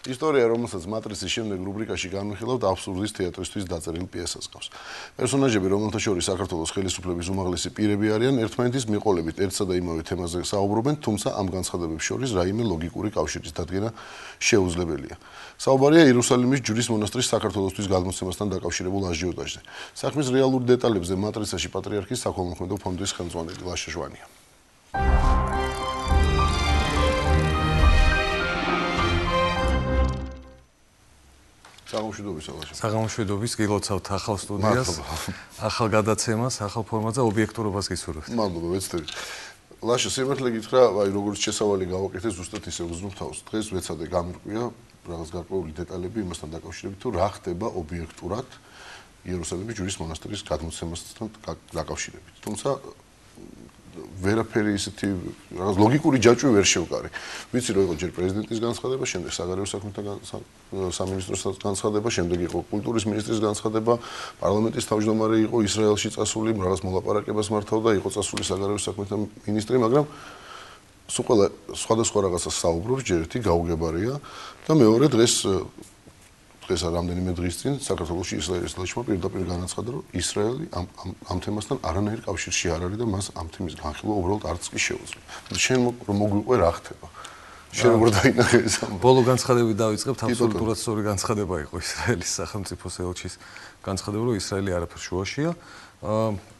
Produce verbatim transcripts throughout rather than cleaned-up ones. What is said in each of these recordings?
ისტორია, რომელსაც მატრიცის შემდეგ რუბრიკაში განვიხილავთ, აბსურდის თეატრისთვის დაწერილ პიესას გავს. პერსონაჟები, რომელთა შორის საქართველოს ხელისუფლების უმაღლესი პირები არიან, ერთმანეთის მიყოლებით ერთსა და იმავე თემაზე საუბრობენ, თუმცა ამ განცხადებებს შორის რაიმე ლოგიკური კავშირის დადგენა შეუძლებელია. საუბარია იერუსალიმის ჯვრის მონასტრის საქართველოსთვის გადმოცემასთან დაკავშირებულ აჟიოტაჟზე. საქმის რეალურ დეტალებზე მატრიცაში პატრიარქის საქველმოქმედო ფონდის ხელმძღვანელი ლაშა ჟვანია. საღამოშვიდობის ალაშა. საღამოშვიდობის გილოცავთ ახალ სტუდიას, ახალ გადაცემას, ახალ ფორმატზე ობიექტურობას გისურვებთ. მადლობა, ვეცდებით. ლაშა, სიმართლე გითხრა, აი როგორც შესავალი გავაკეთე, ზუსტად ისე ვუზნობ თავს. დღეს ვეცადე გამირკვია რაღაც გარკვეული დეტალები იმასთან დაკავშირებით, თუ რა ხდება ობიექტურად იერუსალიმის ჯვრის მონასტრის გადმოცემასთან დაკავშირებით. თუმცა ვერაფერი ისეთი რაღაც ლოგიკური ჯაჭვი ვერ შევკარი. ვიცი რომ იყო ჯერ პრეზიდენტის განცხადება, შემდეგ საგარეო საქმეთა სამინისტროს განცხადება, შემდეგ იყო კულტურის მინისტრის განცხადება, პარლამენტის თავმჯდომარე იყო ისრაელში წასული, რაღაც მოლაპარაკებას მართავდა, იყო წასული საგარეო საქმეთა მინისტრი, მაგრამ სულ ყველა სხვადასხვა რაღაცას საუბრობს, ჯერ ერთი გაუგებარია და მეორე დღეს დღეს რამდენიმე დღის წინ საქართველოში ისრაელის ლაშმა პირდაპირ განაცხადა, რომ ისრაელი ამ ამ თემასთან არანაირ კავშირში არ არის და მას ამ თემის განხილვა უბრალოდ არც კი შეუძლია. შენ რომ მოგვიყვე რა ხდება? შენ როგორ დაინახე ეს ამბავი? ბოლო განცხადებით დავიწყებთ, აბსოლუტურად სწორი განცხადება იყო ისრაელის სახელმწიფოს ელჩის განცხადება, რომ ისრაელი არაფერ შუაშია.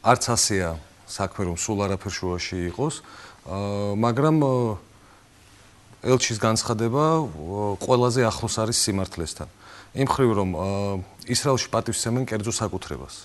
არც ასეა საქმე, რომ სულ არაფერ შუაში იყოს, მაგრამ ელჩის განცხადება ყველაზე ახლოს არის სიმართლესთან. იმ ხრივ რომ ისრაელში პატივსცემენ კერძო საკუთრებას.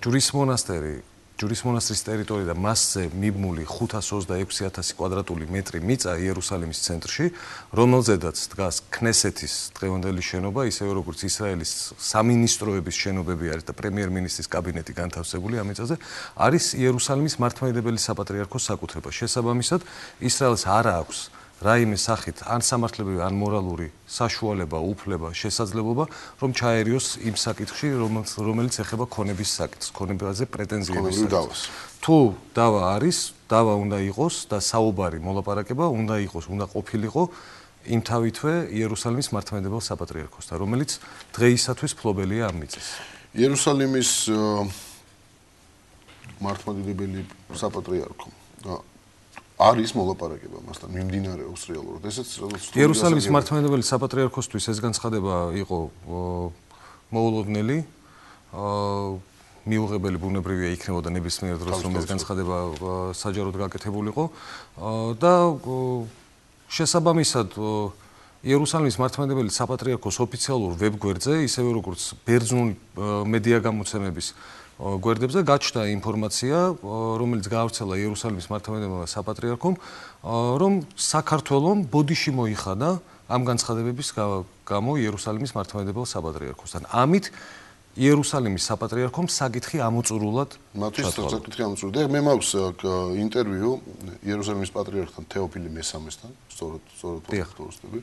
ჯვრის მონასტერი, ჯვრის მონასტრის ტერიტორია და მასზე მიბმული ხუთას ოცდაექვსი ათასი კვადრატული მეტრი მიწა იერუსალიმის ცენტრში, რომელზედაც დგას ქნესეთის დღევანდელი შენობა, ისევე როგორც ისრაელის სამინისტროების შენობები არის და პრემიერ-მინისტრის კაბინეტი განთავსებული ამ მიწაზე, არის იერუსალიმის მართლმადიდებელი საპატრიარქოს საკუთრება. შესაბამისად, ისრაელს არ აქვს რაიმე სახით ან სამართლებრივი, ან მორალური საშუალება, უფლება, შესაძლებლობა, რომ ჩაერიოს იმ საკითხში, რომელიც ეხება ქონების საკითხს, ქონებაზე პრეტენზიების საკითხს. თუ დავა არის, დავა უნდა იყოს და საუბარი მოლაპარაკება უნდა იყოს, უნდა ყოფილიყო იმთავითვე იერუსალიმის მართლმადიდებელ საპატრიარქოსთან, რომელიც დღეისათვის ფლობელია ამ მიწის. იერუსალიმის მართლმადიდებელი საპატრიარქო არის მოლაპარაკება მასთან, მიმდინარეობს რეალურად. ესეც იერუსალიმის მართლმადიდებელი საპატრიარქოსთვის ეს განცხადება იყო მოულოდნელი, მიუღებელი ბუნებრივია იქნებოდა ნებისმიერ დროს, რომ ეს განცხადება საჯაროდ გაკეთებულიყო და შესაბამისად იერუსალიმის მართლმადიდებელი საპატრიარქოს ოფიციალურ ვებგვერდზე, ისევე როგორც ბერძნული მედია გამოცემების გვერდებზე გაჩნდა ინფორმაცია, რომელიც გაავრცელა იერუსალიმის მართლმადიდებელმა საპატრიარქომ, რომ საქართველომ ბოდიში მოიხადა ამ განცხადებების გამო იერუსალიმის მართლმადიდებელ საპატრიარქოსთან. ამით იერუსალიმის საპატრიარქომ საკითხი ამოწურულად ჩათვალა. საკითხი ამოწურდა. მე მაქვს ინტერვიუ იერუსალიმის პატრიარქთან თეოფილე მესამესთან, სწორად, სწორად ვახტოვსდები,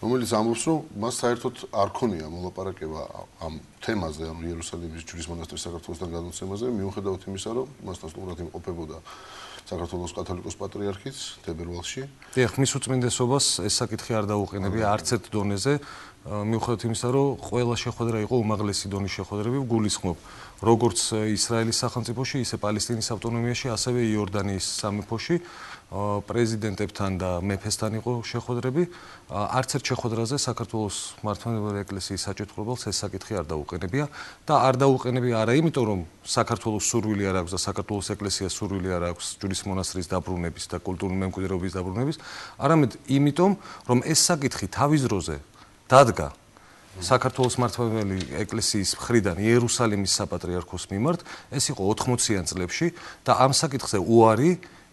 რომელიც ამბობს, რომ მას საერთოდ არ ქონია მოლაპარაკება ამ თემაზე, ამ იერუსალიმის ჯვრის მონასტრის საქართველოსთან გადმოცემაზე, მიუხედავად იმისა, რომ მასთან სტუმრად იმყოფებოდა საქართველოს კათოლიკოს პატრიარქიც თებერვალში. დიახ, მის უწმინდესობას ეს საკითხი არ დაუყენებია არც ერთ დონეზე, მიუხედავად იმისა, რომ ყველა შეხვედრა იყო უმაღლესი დონის შეხვედრები, გულისხმობ როგორც ისრაელის სახელმწიფოში, ისე პალესტინის ავტონომიაში, ასევე იორდანიის სამეფოში, პრეზიდენტებთან და მეფესთან იყო შეხვედრები. არც ერთ შეხვედრაზე საქართველოს მართლმადიდებელი ეკლესიის საჭიროებელს ეს საკითხი არ დაუყენებია და არ დაუყენებია არა იმიტომ, რომ საქართველოს სურვილი არ აქვს და საქართველოს ეკლესიას სურვილი არ აქვს ჯვრის მონასტრის დაბრუნების და კულტურული მემკვიდრეობის დაბრუნების, არამედ იმიტომ, რომ ეს საკითხი თავის დროზე დადგა საქართველოს მართლმადიდებელი ეკლესიის მხრიდან იერუსალიმის საპატრიარქოს მიმართ, ეს იყო ოთხმოციან წლებში და ამ საკითხზე უარი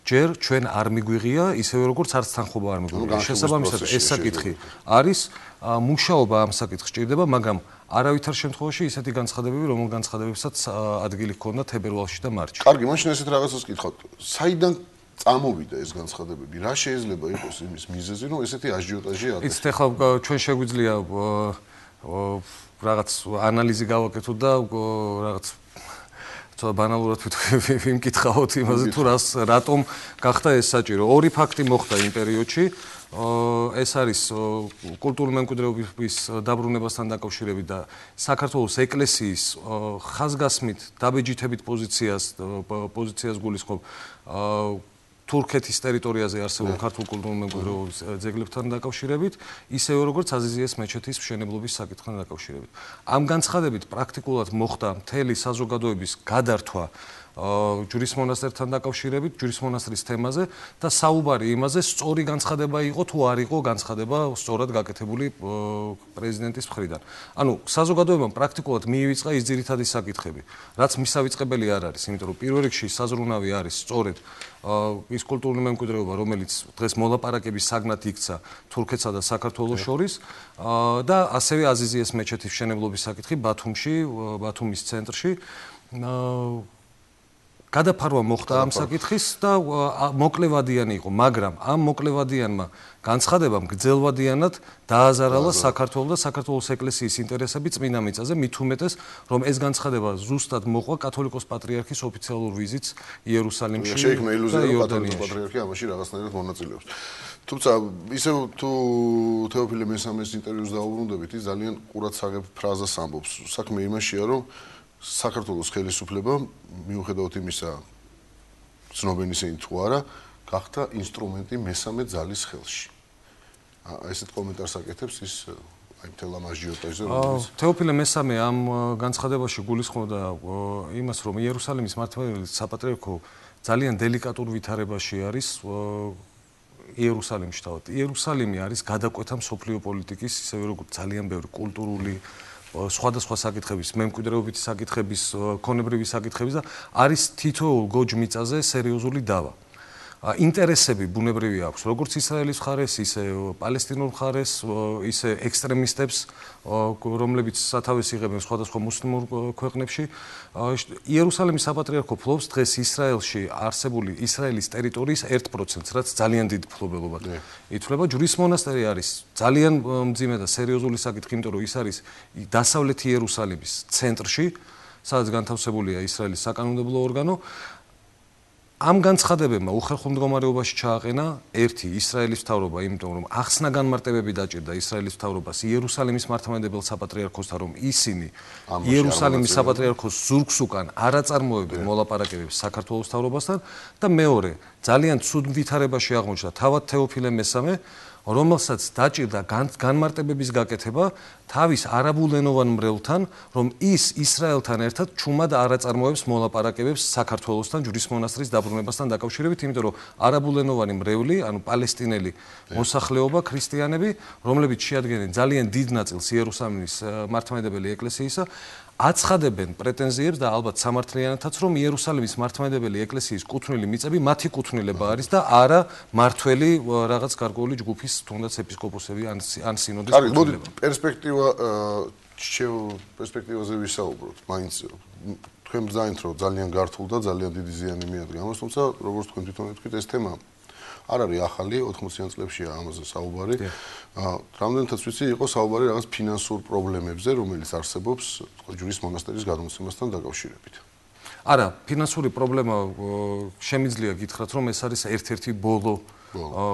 ჯერ ჩვენ არ მიგვიღია, ისევე როგორც არც თანხმობა არ მიგვიღია. შესაბამისად, ეს საკითხი არის, მუშაობა ამ საკითხს ჭირდება, მაგრამ არავითარ შემთხვევაში ისეთი განცხადებები, რომელ განცხადებებსაც ადგილი ჰქონდა თებერვალში და მარტში. კარგი, მაშინ ესეთ რაღაცას გითხავთ. საიდან წამოვიდა ეს განცხადებები? რა შეიძლება იყოს იმის მიზეზი, რომ ესეთი აჟიოტაჟი არის? იცით, ახლა ჩვენ შეგვიძლია რაღაც ანალიზი გავაკეთოთ და რაღაც ცოტა ბანალურად ვიმკითხავთ იმაზე თუ რას რატომ გახდა ეს საჭირო. ორი ფაქტი მოხდა იმ პერიოდში. ეს არის კულტურული მემკვიდრეობის დაბრუნებასთან დაკავშირებით და საქართველოს ეკლესიის ხაზგასმით დაბეჯითებით პოზიციას პოზიციას გულისხმობ თურქეთის ტერიტორიაზე არსებულ ქართულ კულტურულ მემკვიდრეობის ძეგლებთან დაკავშირებით, ისევე როგორც აზიზიეს მეჩეთის მშენებლობის საკითხთან დაკავშირებით. ამ განცხადებით პრაქტიკულად მოხდა მთელი საზოგადოების გადართვა ჯვრის მონასტერთან დაკავშირებით, ჯვრის მონასტრის თემაზე და საუბარი იმაზე, სწორი განცხადება იყო თუ არ იყო განცხადება სწორად გაკეთებული პრეზიდენტის მხრიდან. ანუ საზოგადოებამ პრაქტიკულად მიივიწყა ის ძირითადი საკითხები, რაც მისავიწყებელი არ არის, იმიტომ რომ პირველ რიგში საზრუნავი არის სწორედ ის კულტურული მემკვიდრეობა, რომელიც დღეს მოლაპარაკების საგნად იქცა თურქეთსა და საქართველოს შორის და ასევე აზიზიეს მეჩეთის მშენებლობის საკითხი ბათუმში, ბათუმის ცენტრში. გადაფარვა მოხდა ამ საკითხის და მოკლევადიანი იყო, მაგრამ ამ მოკლევადიანმა განცხადებამ გრძელვადიანად დააზარალა საქართველოს და საქართველოს ეკლესიის ინტერესები წმინდა მიწაზე, მით უმეტეს, რომ ეს განცხადება ზუსტად მოყვა კათოლიკოს პატრიარქის ოფიციალურ ვიზიტს იერუსალიმში. შეიქმნა ილუზია, რომ კათოლიკოს პატრიარქი ამაში რაღაცნაირად მონაწილეობს. თუმცა ისევ თუ თეოფილე მესამეს ინტერვიუს დაუბრუნდებით, ის ძალიან ყურადსაღებ ფრაზას ამბობს. საქმე იმაშია, რომ საქართველოს ხელისუფლება მიუხედავად იმისა, ცნობენ ისინი თუ არა, გახდა ინსტრუმენტი მესამე ძალის ხელში. ესეთ კომენტარს აკეთებს ის აი მთელ ამ აჟიოტაჟზე, რომელიც თეოფილე მესამე ამ განცხადებაში გულისხმობდა იმას, რომ იერუსალიმის მართლმადიდებელი საპატრიარქო ძალიან დელიკატურ ვითარებაში არის იერუსალიმში თავად. იერუსალიმი არის გადაკვეთა მსოფლიო პოლიტიკის, ისევე როგორც ძალიან ბევრი კულტურული სხვადასხვა საკითხების, მემკვიდრეობითი საკითხების, ქონებრივი საკითხების და არის თითოეულ გოჯ მიწაზე სერიოზული დავა. ინტერესები ბუნებრივი აქვს, როგორც ისრაელის მხარეს, ისე პალესტინურ მხარეს, ისე ექსტრემისტებს, რომლებიც სათავეს იღებენ სხვადასხვა მუსლიმურ ქვეყნებში. იერუსალიმის საპატრიარქო ფლობს დღეს ისრაელში არსებული ისრაელის ტერიტორიის ერთ პროცენტს, რაც ძალიან დიდ ფლობელობად ითვლება. ჯვრის მონასტერი არის ძალიან მძიმე და სერიოზული საკითხი, იმიტომ რომ ის არის დასავლეთი იერუსალიმის ცენტრში, სადაც განთავსებულია ისრაელის საკანონმდებლო ორგანო. ამ განცხადებებმა უხერხულ მდგომარეობაში ჩააყენა ერთი ისრაელის მთავრობა, იმიტომ რომ ახსნა განმარტებები დაჭირდა ისრაელის მთავრობას იერუსალიმის მართლმადიდებელ საპატრიარქოსთან, რომ ისინი იერუსალიმის საპატრიარქოს ზურგს უკან არ აწარმოებენ მოლაპარაკებებს საქართველოს მთავრობასთან და მეორე, ძალიან ცუდ ვითარებაში აღმოჩნდა თავად თეოფილე მესამე, რომელსაც დაჭირდა განმარტებების გაკეთება თავის არაბულენოვან მრევლთან, რომ ის ისრაელთან ერთად ჩუმად არ აწარმოებს მოლაპარაკებებს საქართველოსთან ჯვრის მონასტრის დაბრუნებასთან დაკავშირებით, იმიტომ რომ არაბულენოვანი მრევლი, ანუ პალესტინელი მოსახლეობა, ქრისტიანები, რომლებიც შეადგენენ ძალიან დიდ ნაწილს იერუსალიმის მართლმადიდებელი ეკლესიისა, აცხადებენ პრეტენზიებს და ალბათ სამართლიანათაც, რომ იერუსალიმის მართლმადიდებელი ეკლესიის კუთვნილი მიწები მათი კუთვნილება არის და არა მართველი რაღაც გარკვეული ჯგუფის, თუნდაც ეპისკოპოსები ან ან სინოდის კუთვნილება. კარგი, მოდი პერსპექტივა პერსპექტივაზე ვისაუბროთ. მაინც თქვენ ბრძანით, რომ ძალიან გართულ და ძალიან დიდი ზიანი მიადგა ამას, თუმცა როგორც თქვენ თვითონ თქვით, ეს თემა არ არის ახალი, ოთხმოციან წლებშია ამაზე საუბარი. რამდენადაც ვიცი, იყო საუბარი რაღაც ფინანსურ პრობლემებზე, რომელიც არსებობს ჯვრის მონასტერის გადმოცემასთან დაკავშირებით. არა, ფინანსური პრობლემა შემიძლია გითხრათ, რომ ეს არის ერთ-ერთი ბოლო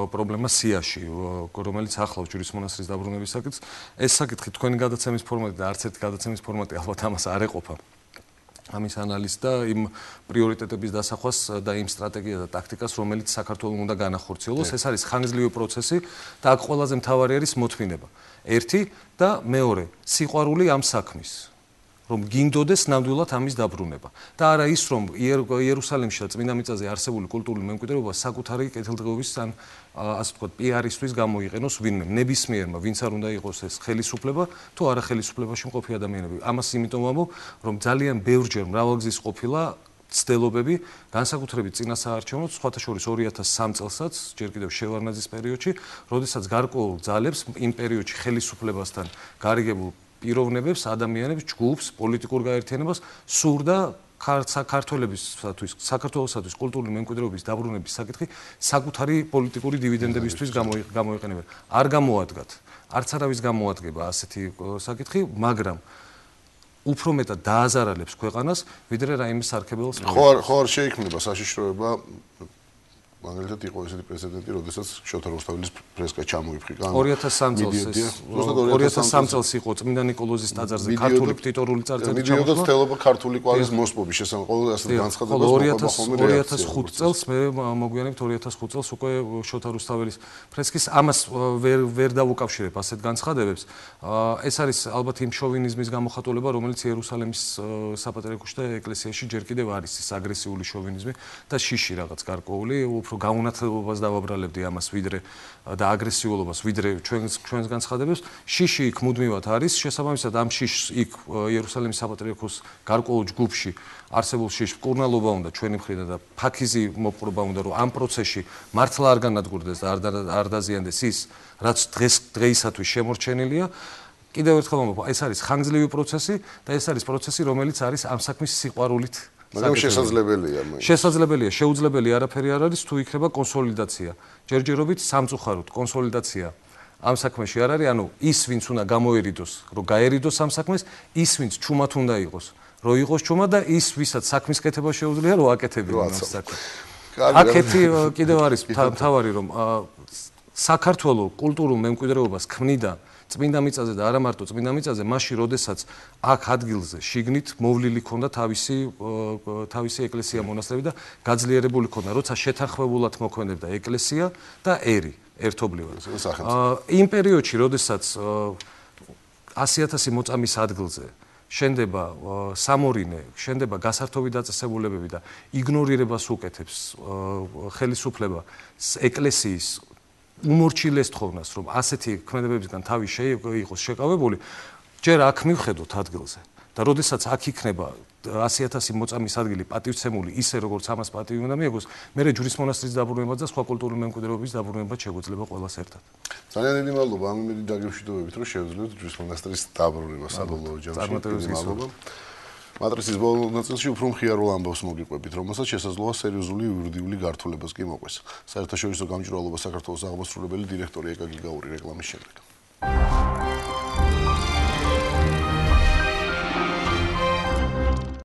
პრობლემა სიაში, რომელიც ახლავს ჯვრის მონასტრის დაბრუნების საკითხს. ეს საკითხი თქვენი გადაცემის ფორმატი და არც ერთი გადაცემის ფორმატი ალბათ ამას არ ეყოფა. ამის ანალიზს და იმ პრიორიტეტების დასახვას და იმ სტრატეგიას და ტაქტიკას, რომელიც საქართველოს უნდა განახორციელოს. ეს არის ხანგრძლივი პროცესი და აქ ყველაზე მთავარი არის მოთმინება. ერთი და მეორე, სიყვარული ამ საქმის, რომ გინდოდეს ნამდვილად ამის დაბრუნება. და არა ის, რომ იერუსალიმში და წმინდა მიწაზე არსებული კულტურული მემკვიდრეობა საკუთარი კეთილდღეობის ან ასე ვთქვათ, პიარისთვის გამოიყენოს ვინმე, ნებისმიერმა, ვინც არ უნდა იყოს ეს ხელისუფლება, თუ არა ხელისუფლებაში მყოფი ადამიანები. ამას იმიტომ ვამბობ, რომ ძალიან ბევრჯერ მრავალგზის ყოფილა ცდილობები, განსაკუთრებით წინა საარჩევნოდ, სხვათა შორის ორი ათას სამ წელსაც, ჯერ კიდევ შევარნაძის პერიოდში, როდესაც გარკვეულ ძალებს იმ პერიოდში ხელისუფლებასთან გარიგებულ პიროვნებებს, ადამიანებს, ჯგუფს, პოლიტიკურ გაერთიანებას სურდა საქართველოსთვის, საქართველოსთვის კულტურული მემკვიდრეობის დაბრუნების საკითხი საკუთარი პოლიტიკური დივიდენდებისთვის გამოიყენებენ. არ გამოადგათ, არც არავის გამოადგება ასეთი საკითხი, მაგრამ უფრო მეტად დააზარალებს ქვეყანას, ვიდრე რაიმე სარქებელს. ხო არ ხო არ შეიქმნება საშიშროება მაგალითად იყო ესეთი პრეცედენტი, როდესაც შოთა რუსთაველის ფრესკა ჩამოიფრიკა. ორი ათას სამი წელს ეს ორი ათას სამი წელს იყო წმინდა ნიკოლოზის ტაძარზე ქართული პტიტორული წარწერა ჩამოხდა. მიდიოდა ცდელობა ქართული კვალის მოსპობის შესახებ ყოველ ასეთ განცხადებას მოყვა ხოლმე ორი ათას ხუთი წელს მე მოგვიანებით ორი ათას ხუთი წელს უკვე შოთა რუსთაველის ფრესკის ამას ვერ ვერ დავუკავშირებ ასეთ განცხადებებს. ეს არის ალბათ იმ შოვინიზმის გამოხატულება, რომელიც იერუსალიმის საპატრიარქოში და ეკლესიაში ჯერ კიდევ არის ის აგრესიული შოვინიზმი და შიში რაღაც გარკვეული გაუნათლებას დავაბრალებდი ამას ვიდრე და აგრესიულობას ვიდრე ჩვენს ჩვენს განცხადებებს. შიში იქ მუდმივად არის, შესაბამისად ამ შიშს იქ იერუსალიმის საპატრიარქოს გარკვეულ ჯგუფში არსებულ შიშს მკურნალობა უნდა ჩვენი მხრიდან და ფაქიზი მოპყრობა უნდა, რომ ამ პროცესში მართლა არ განადგურდეს და არ დაზიანდეს ის, რაც დღეს დღეისათვის შემორჩენილია. კიდევ ერთხელ მომბო, ეს არის ხანგრძლივი პროცესი და ეს არის პროცესი, რომელიც არის ამ საქმის სიყვარულით მაგრამ შესაძლებელია მე. შესაძლებელია, შეუძლებელი არაფერი არ არის, თუ იქნება კონსოლიდაცია. ჯერჯერობით სამწუხაროდ კონსოლიდაცია ამ საქმეში არ არის, ანუ ის ვინც უნდა გამოერიდოს, რომ გაერიდოს ამ საქმეს, ის ვინც ჩუმად უნდა იყოს, რომ იყოს ჩუმად და ის ვისაც საქმის კეთება შეუძლია, რომ აკეთებინა ამ საქმეს. აქეთი კიდევ არის მთავარი, რომ საქართველოს კულტურულ მემკვიდრეობას ქმნიდა წმინდა მიწაზე და არა მარტო წმინდა მიწაზე, მაშინ როდესაც აქ ადგილზე შიგნით მოვლილი ქონდა თავისი თავისი ეკლესია მონასტრები და გაძლიერებული ქონდა, როცა შეთანხმებულად მოქმედებდა ეკლესია და ერი ერთობლივად. იმ პერიოდში, როდესაც ასი ათასი მოწამის ადგილზე შენდება სამორინე, შენდება გასართობი დაწესებულებები და იგნორირებას უკეთებს ხელისუფლება ეკლესიის უმორჩილეს თხოვნას, რომ ასეთი ქმედებებისგან თავი შეიყოს შეკავებული, ჯერ აქ მივხედოთ ადგილზე. და როდესაც აქ იქნება ასი ათასი მოწამის ადგილი პატივცემული ისე, როგორც ამას პატივი უნდა მიიღოს, მერე ჯვრის მონასტრის დაბრუნებაც და სხვა კულტურული მემკვიდრეობის დაბრუნებაც შეგვეძლება ყველას ერთად. ძალიან დიდი მადლობა ამ იმედი დაგემშვიდობებით, რომ შევძლებთ ჯვრის მონასტრის დაბრუნება საბოლოო ჯამში. მადლობა. მატრიცის ბოლო ნაწილში უფრო მხიარულ ამბავს მოგიყვებით, რომელსაც შესაძლოა სერიოზული იურიდიული გართულებას კი მოყვეს. საერთაშორისო გამჭვირვალობა საქართველოს აღმასრულებელი დირექტორი ეკა გიგაური რეკლამის შემდეგ.